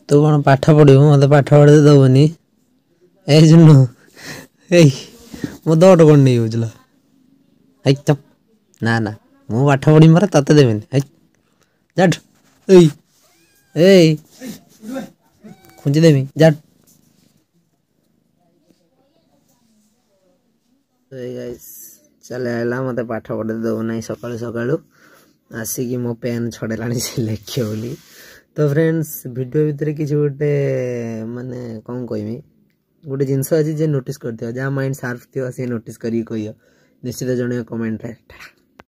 ତୁ କ'ଣ ପାଠ ପଢ଼ିବୁ? ମୋତେ ପାଠ ପଢ଼େଇ ଦେବୁନି। ଏଇ ଜୁନୁ, ଏଇ ମୋ ଦଟ କ'ଣ ନେଇଯାଉଥିଲା? ଏଇ ଚପ୍। ନା ନା, ମୁଁ ପାଠ ପଢ଼ିବି ପରା, ତତେ ଦେବିନି। ଏଇ ଯାଠୁ, ଏଇ ଏଇ ଖୁଞ୍ଚି ଦେବି, ଯାଠୁ। ଚାଲି ଆଇଲା, ମୋତେ ପାଠ ପଢ଼େଇ ଦେଉନାହିଁ। ସକାଳୁ ସକାଳୁ ଆସିକି ମୋ ପେନ୍ ଛଡ଼େଇଲାଣି ସେ ଲେଖିବ ବୋଲି। ତ ଫ୍ରେଣ୍ଡସ୍, ଭିଡ଼ିଓ ଭିତରେ କିଛି ଗୋଟେ, ମାନେ କ'ଣ କହିବି, ଗୋଟେ ଜିନିଷ ଅଛି ଯେ ନୋଟିସ୍ କରିଥିବ, ଯାହା ମାଇଣ୍ଡ ସାର୍ପ ଥିବ ସେ ନୋଟିସ୍ କରିକି କହିବ, ନିଶ୍ଚିତ ଜଣେଇବ କମେଣ୍ଟରେ।